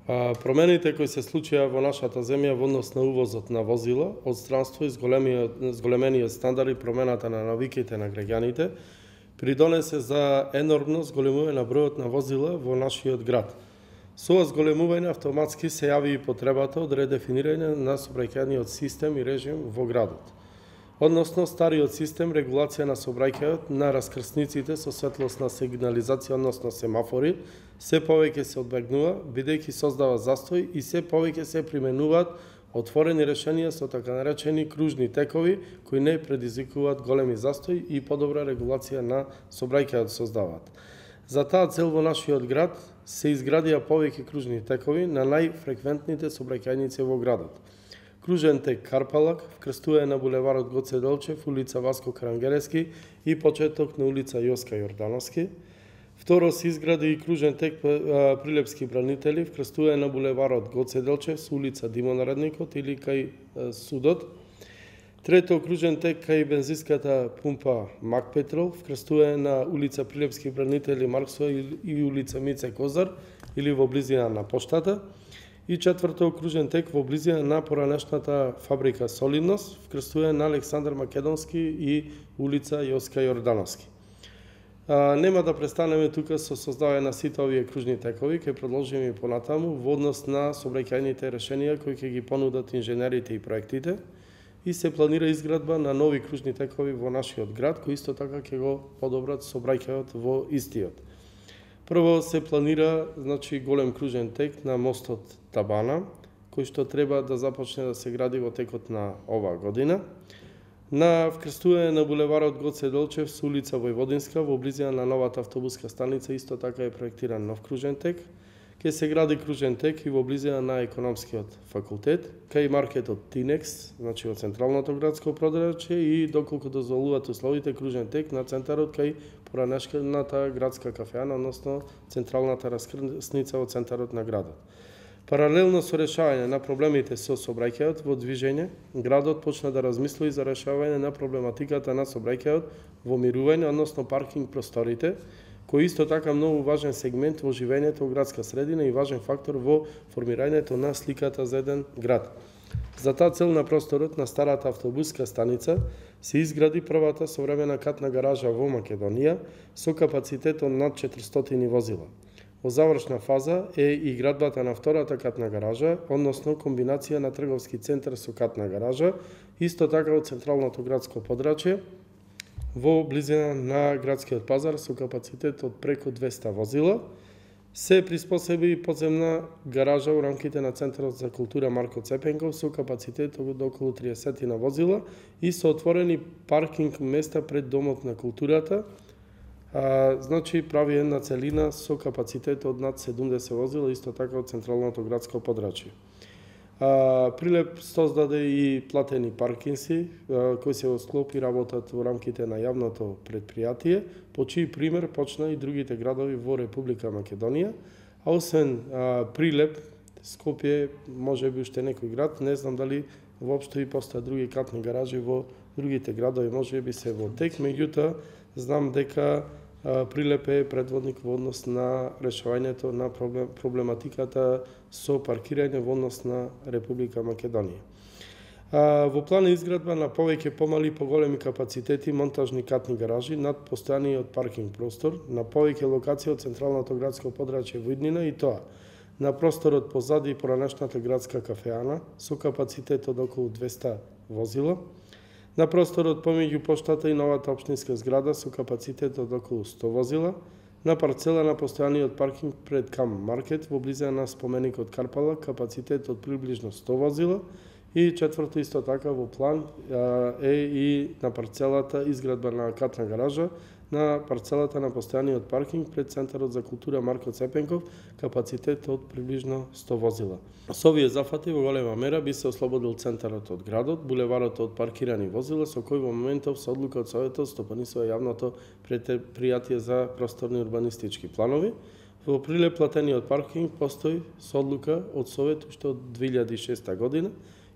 Промените кои се случија во нашата земја во однос на увозот на возила од странство и зголемениот стандард и промената на навиките на граѓаните придонесе за енормно зголемување на бројот на возила во нашиот град. Со ова зголемување автоматски се јави и потребата од редефинирање на сообраќајниот систем и режим во градот. Односно, стариот систем регулација на сообраќајот на раскрсниците со светлосна сигнализација, односно семафори, се повеќе се одбегнува, бидејќи создава застој и се повеќе се применуваат отворени решенија со така наречени кружни текови, кои не предизвикуваат големи застои и подобра регулација на сообраќајот создаваат. За таа цел во нашиот град се изградија повеќе кружни текови на најфреквентните сообраќајници во градот. Кружен тек Карпалак, вкрстување на булеварот Гоце Делчев, улица Васко Карангерески и почеток на улица Јоска Јордановски. Второ, се изгради и кружен тек Прилепски бранители, вкрстување на булеварот Гоце Делчев со улица Димо Наредникот или кај судот. Трето, кружен тек кај бензинската пумпа Мак Петрол, вкрстување на улица Прилепски бранители Марксо и улица Мице Козар или во близина на поштата. И четврто, кружен тек во близина на поранешната фабрика Солидност, вкрстување на Александар Македонски и улица Јоска Јордановски. Нема да престанеме тука со создавање на сите овие кружни текови, ќе продолжиме и понатаму во однос на сообраќајните решенија кои ќе ги понудат инженерите и проектите и се планира изградба на нови кружни текови во нашиот град, кои исто така ќе го подобрат сообраќајот во истиот. Прво се планира голем кружен тек на мостот Табана, кој што треба да започне да се гради во текот на оваа година. На вкрстување на булеварот Гоце Делчев со улица Војводинска во близина на новата автобуска станица исто така е проектиран нов кружен тек. Ке се гради кружен тек и во близина на економскиот факултет, кај маркетот Тинекс, во централното градско подрачје и доколку дозволуваат условите кружен тек на центарот кај поранешната градска кафеана, односно централната раскрсница во центарот на градот. Паралелно со решавање на проблемите со сообраќајот во движење, градот почна да размисли за решавање на проблематиката на сообраќајот во мирување, односно паркинг просторите, кој исто така многу важен сегмент во живењето во градска средина и важен фактор во формирањето на сликата за еден град. За таа цел на просторот на старата автобуска станица се изгради првата современа катна гаража во Македонија со капацитет од над 400 возила. Во завршна фаза е и градбата на втората катна гаража, односно комбинација на трговски центар со катна гаража, исто така од централното градско подрачје, во близина на градскиот пазар со капацитет од преку 200 возила. Се приспособи и подземна гаража во рамките на Центарот за култура Марко Цепенков со капацитет од околу 30 на возила и со отворени паркинг места пред Домот на културата. Прави една целина со капацитет од над 70 возила, исто така од централното градско подрачје. Прилеп создаде и платени паркинси, кои се склопи работат во рамките на јавното предпријатие, по чиј пример почна и другите градови во Република Македонија, а освен Прилеп, Скопје, може би уште некој град, не знам дали воопшто и постојат други катни гаражи во другите градови, може би се во тек, меѓутоа знам дека Прилеп е предводник во однос на решавањето на проблематиката со паркирање во однос на Република Македонија. Во план е изградба на повеќе помали и поголеми капацитети монтажни катни гаражи над постојаниот паркинг простор на повеќе локации од централното градско подрачје во иднина, и тоа на просторот позади поранешната градска кафеана со капацитет од околу 200 возила, на просторот помеѓу поштата и новата општинска зграда со капацитет од околу 100 возила, на парцела на постојаниот паркинг пред Кам Маркет во близина на споменикот Карпала капацитет од приближно 100 возила, и четврто исто така во план е и на парцелата изградба на катна гаража на парцелата на постојаниот паркинг пред Центарот за култура Марко Цепенков капацитет од приближно 100 возила. Со овие зафати во голема мера би се ослободил центарот од градот, булеварот од паркирани возила, со кој во моментов со одлука од Советот стопанисува јавното предпријатие за просторни урбанистички планови. Во Прилеп платениот паркинг постои со одлука од Совет уште од 2006 година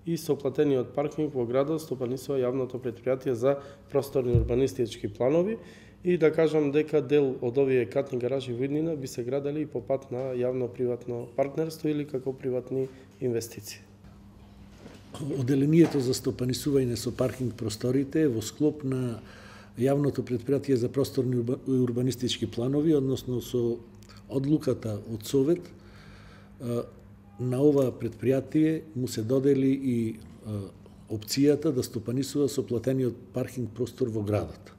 и со платениот паркинг во градот стопанисува јавното предпријатие за просторни урбанистички планови и да кажам дека дел од овие катни гаражи во иднина би се градели и по пат на јавно-приватно партнерство или како приватни инвестиции. Оделението за стопанисување со паркинг просторите во склоп на јавното предпријатие за просторни и урбанистички планови, односно со одлуката од Совет, на ова предпријатие му се додели и опцијата да стопанисува со платениот паркинг простор во градот.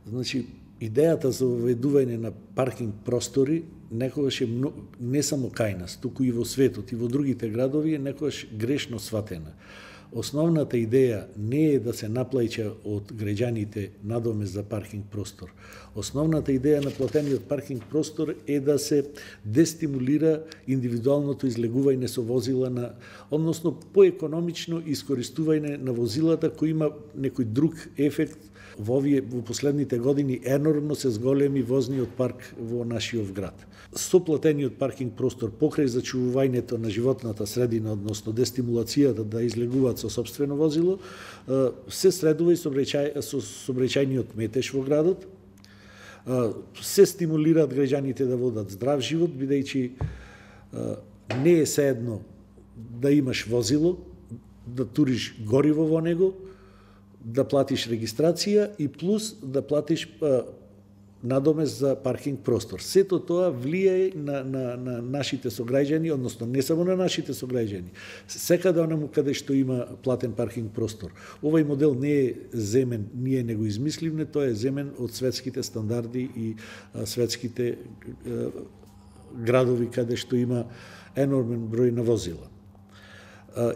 Значи, идејата за воведување на паркинг простори некогаш е не само кај нас, туку и во светот и во другите градови е некогаш грешно сватена. Основната идеја не е да се наплаќа од граѓаните надомест за паркинг простор. Основната идеја на платениот паркинг простор е да се дестимулира индивидуалното излегување со возила односно поекономично искористување на возилата кои има некој друг ефект. Во последните години енормно се зголеми возниот парк во нашиот град. Со платениот паркинг простор покрај зачувувањето на животната средина, односно дестимулацијата да излегуваат со сопствено возило, се средува и сообраќајниот метеж во градот, се стимулираат граѓаните да водат здрав живот, бидејќи не е сеедно да имаш возило, да туриш гориво во него, да платиш регистрација и плюс да платиш надомест за паркинг простор. Сето тоа влијае на нашите сограѓани, односно не само на нашите сограѓани, секаде онаму каде што има платен паркинг простор. Овој модел не е земен, ние не го измисливме, тоа е земен од светските стандарди и светските градови каде што има енормен број на возила.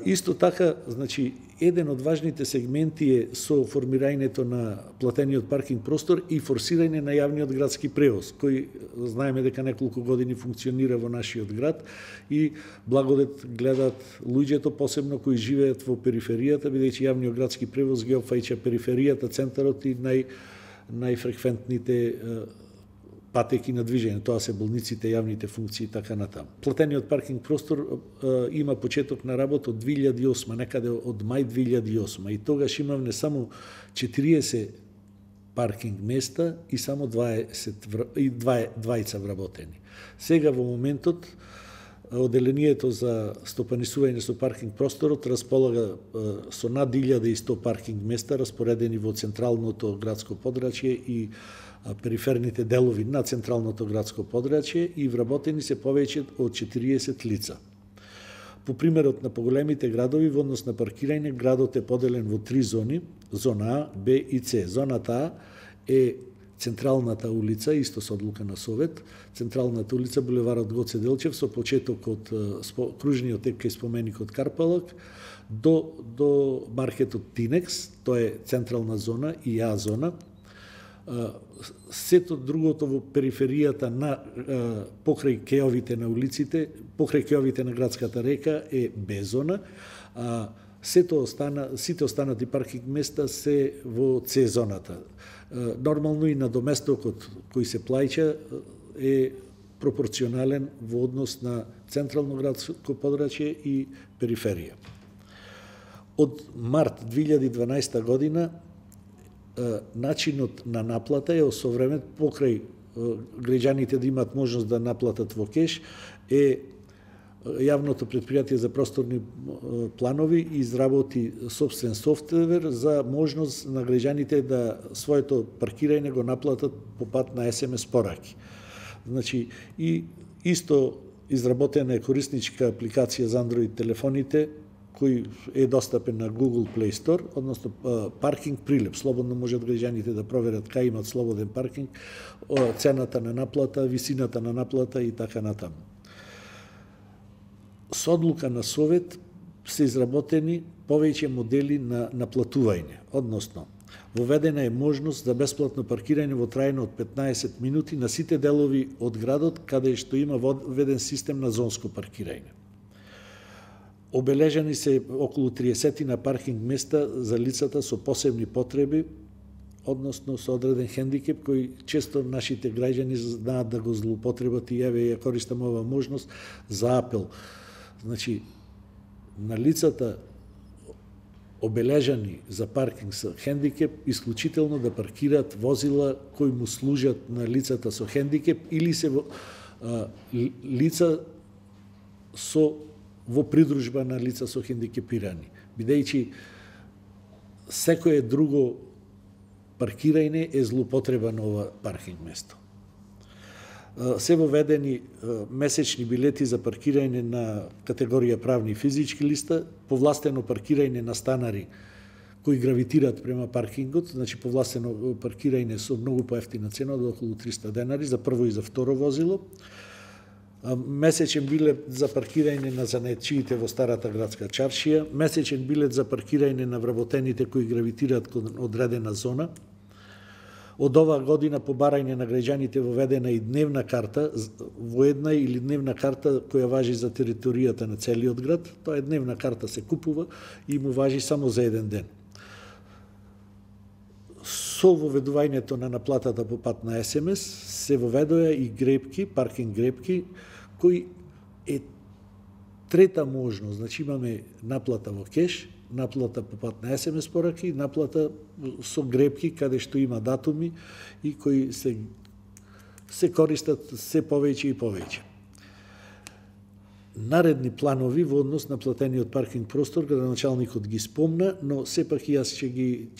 Исто така, значи, еден од важните сегменти е со формирањето на платениот паркинг простор и форсирање на јавниот градски превоз, кој знаеме дека неколку години функционира во нашиот град и благодет гледаат луѓето, посебно кои живеат во периферијата, бидејќи јавниот градски превоз ги опфаќа периферијата, центарот и најфреквентните патеки на движење, тоа се болниците, јавните функции и така натаму. Платениот паркинг простор има почеток на работа од 2008, некаде од мај 2008, и тогаш имавме само 40 паркинг места и само 20 вработени. Сега во моментот Оделението за стопанисување со паркинг просторот располага со над 1100 паркинг места распоредени во централното градско подрачје и периферните делови на централното градско подрачје и вработени се повеќе од 40 лица. По примерот на поголемите градови во однос на паркирање, градот е поделен во 3 зони, зона А, Б и С. Зоната А е централната улица, исто со одлука на Совет, централната улица булеварот Гоце Делчев со почеток од кружниот тек кај споменикот Карпалак до маркетот Тинекс, тоа е централна зона и А зона. Сето другото во периферијата на покрај кеовите на улиците, покрај кеовите на градската река е Б зона, сите останати паркинг места се во С зоната. Нормално и надоместокот кој се плаќа е пропорционален во однос на централно градско подрачје и периферија. Од март 2012 година начинот на наплата е осовремен покрај граѓаните да имаат можност да наплатат во кеш е Јавното предпријатие за просторни планови изработи собствен софтвер за можност на граѓаните да своето паркирање го наплатат по пат на SMS пораки. Значи, и исто изработена е корисничка апликација за Android телефоните, кој е достапен на Google Play Store, односно паркинг прилеп. Слободно можат граѓаните да проверат кај имат слободен паркинг, цената на наплата, висината на наплата и така натаму. Со одлука на Совет се изработени повеќе модели на наплатување, односно воведена е можност за бесплатно паркирање во трајно од 15 минути на сите делови од градот каде што има введен систем на зонско паркирање. Обележани се околу 30 на паркинг места за лицата со посебни потреби, односно со одреден хендикеп кој често нашите граѓани знаат да го злоупотребат и ја користам ова можност за апел. Значи, на лицата обележани за паркинг со хендикеп, исклучително да паркираат возила кои му служат на лицата со хендикеп или се лица во придружба на лица со хендикепирани, бидејќи секое друго паркирање е злоупотреба на ова паркинг место. Се воведени месечни билети за паркирање на категорија правни и физички лица, повластено паркирање на станари кои гравитираат према паркингот, значи повластено паркирање со многу поевтина цена од околу 300 денари за прво и за второ возило, месечен билет за паркирање на занаетчиите во старата градска чаршија, месечен билет за паркирање на вработените кои гравитираат кон одредена зона. Од оваа година по барање на граѓаните воведена и дневна карта, воедна или дневна карта која важи за територијата на целиот град. Тоа е дневна карта, се купува и му важи само за еден ден. Со воведувањето на наплатата по пат на СМС се воведоа и гребки, паркинг гребки, кои е трета можност. Значи имаме наплата во кеш, наплата по пат на СМС пораки, наплата со гребки каде што има датуми и кои се користат се повеќе и повеќе. Наредни планови во однос на платениот паркинг простор, градоначалникот ги спомна, но сепак и јас ќе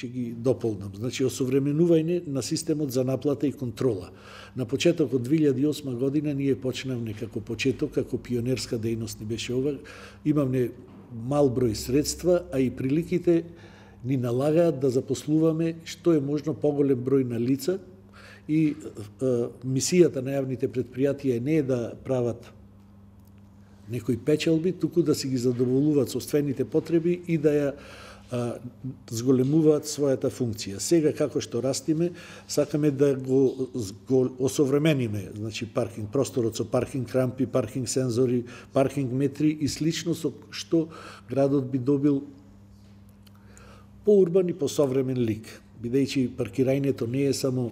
ги дополнам. Значи, осовременување на системот за наплата и контрола. На почеток од 2008 година ние почнавме како почеток, како пионерска дејност ни беше ова. Имавме мал број средства, а и приликите ни налагаат да запослуваме што е можно поголем број на лица и мисијата на јавните предпријатија не е да прават некои печалби, туку да си ги задоволуваат собствените потреби и да ја зголемуваат својата функција. Сега, како што растиме, сакаме да го осовремениме, значи паркинг просторот со паркинг рампи, паркинг сензори, паркинг метри и слично со што градот би добил поурбан и посовремен лик. Бидејќи паркирањето не е само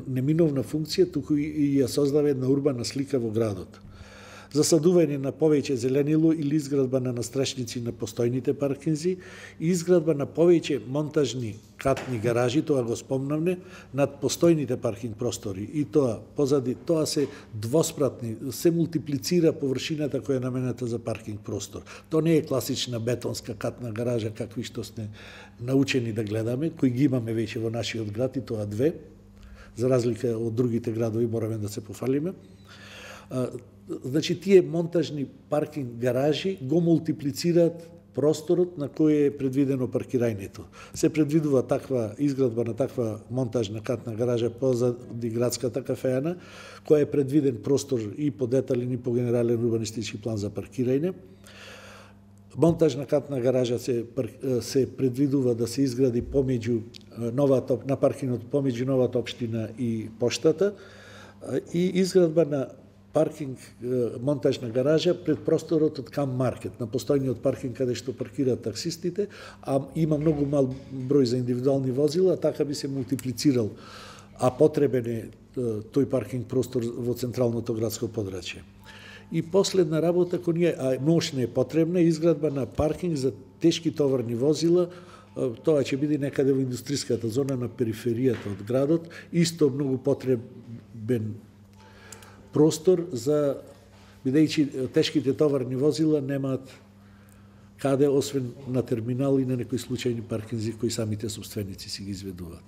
неминовна функција, туку и ја создава една урбана слика во градот. Засадување на повеќе зеленило или изградба на настрашници на постојните паркинзи и изградба на повеќе монтажни катни гаражи, тоа го спомнавме, над постојните паркинг простори. И тоа, позади тоа се двоспратни, се мултиплицира површината која е намената за паркинг простор. Тоа не е класична бетонска катна гаража, какви што сме научени да гледаме, кои ги имаме веќе во нашиот град, и тоа две, за разлика од другите градови, мораме да се пофалиме. Значи, тие монтажни паркинг гаражи го мултиплицираат просторот на кој е предвидено паркирањето. Се предвидува таква изградба на таква монтажна катна гаража позади градската кафеана, која е предвиден простор и по детален и по генерален урбанистички план за паркирање. Монтажна катна гаража се предвидува да се изгради помеѓу на паркингот помеѓу новата општина и поштата и изградба на паркинг монтажна гаража пред просторот од Кам Маркет, на постојниот паркинг каде што паркираат таксистите, а има многу мал број за индивидуални возила, така би се мултиплицирал, а потребен е тој паркинг простор во централното градско подрачје. И последна работа, кој ние, а ношна е потребна, изградба на паркинг за тешки товарни возила. Тоа ќе биде некаде во индустријската зона на периферијата од градот, исто многу потребен простор за, бидејќи тешките товарни возила немаат каде освен на терминал и на некои случајни паркинзи кои самите собственици си ги изведуваат.